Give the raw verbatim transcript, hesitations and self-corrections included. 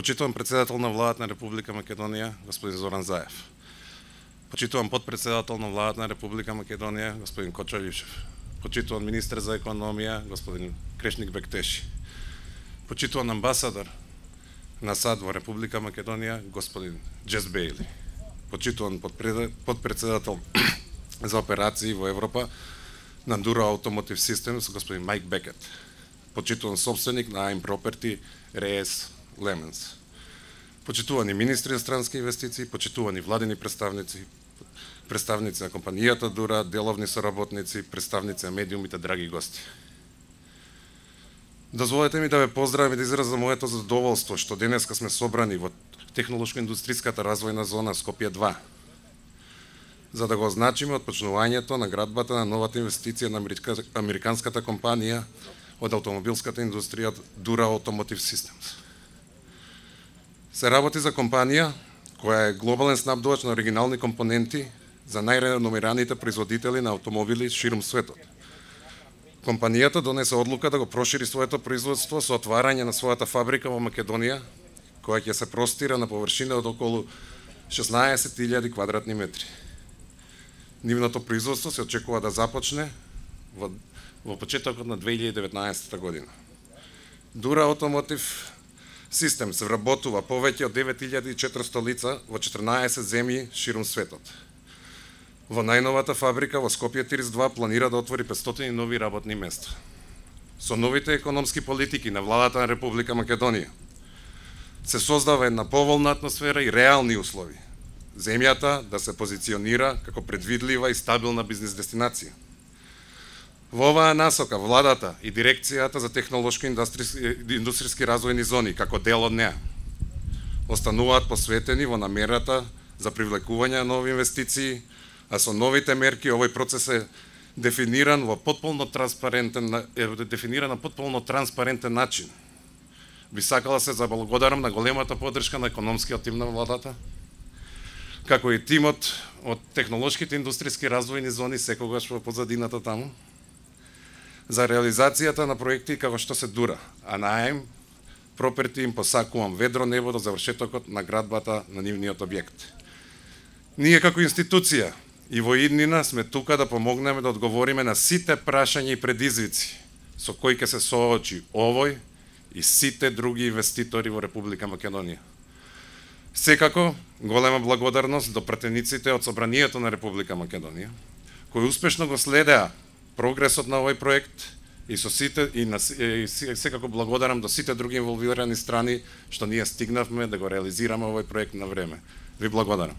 Почитувам председател на владата на Република Македонија, господин Зоран Заев. Почитувам подпредседател на владата на Република Македонија, господин Кочо Илишев. Почитувам министер за економија, господин Крешник Бектеши. Почитувам амбасадор на САД во Република Македонија, господин Джес Бейли. Почитувам подпредседател за операции во Европа на Dura Automotive Systems, господин Майк Бекет. Почитуван собственик на Aim Property, Рейс Леменс. Почитувани министри за странски инвестиции, почитувани владени представници, представници на компанијата Дура, деловни соработници, представници на медиумите, драги гости. Дозволете ми да ве поздравам и да изразам моето задоволство што денеска сме собрани во технолошко-индустриската развојна зона Скопје два, за да го означиме отпочнувањето на градбата на новата инвестиција на американската компанија од автомобилската индустрија Dura Automotive Systems. Се работи за компанија која е глобален снабдувач на оригинални компоненти за најреномираните производители на автомобили ширум светот. Компанијата донесе одлука да го прошири своето производство со отварање на својата фабрика во Македонија, која ќе се простира на површина од околу шеснаесет илјади квадратни метри. Нивното производство се очекува да започне во, во почетокот на две илјади и деветнаесетта година. Dura Automotive Systems вработува повеќе од девет илјади и четиристотини лица во четрнаесет земји ширум светот. Во најновата фабрика во Скопје тридесет и два планира да отвори петстотини нови работни места. Со новите економски политики на владата на Република Македонија се создава една поволна атмосфера и реални услови земјата да се позиционира како предвидлива и стабилна бизнес дестинација. Во оваа насока владата и дирекцијата за технолошко-индустријски развојни зони како дел од неа остануваат посветени во намерата за привлекување на нови инвестиции, а со новите мерки овој процес е дефиниран во потполно транспарентен е дефиниран на потполно транспарентен начин. Би сакала се заблагодарам на големата поддршка на економскиот тим на владата, како и тимот од технолошките индустријски развојни зони секогаш во позадината таму, за реализацијата на проекти како што се Дура, а на Aim Property им посакувам ведро небо до завршетокот на градбата на нивниот објект. Ние како институција и во иднина сме тука да помогнеме да одговориме на сите прашања и предизвици со кои ќе се соочи овој и сите други инвеститори во Република Македонија. Секако, голема благодарност до пратениците од Собранието на Република Македонија, кои успешно го следеа прогресот на овој проект и со сите и, на, и секако благодарам до сите други инволвирани страни што ние стигнавме да го реализираме овој проект на време. Ви благодарам.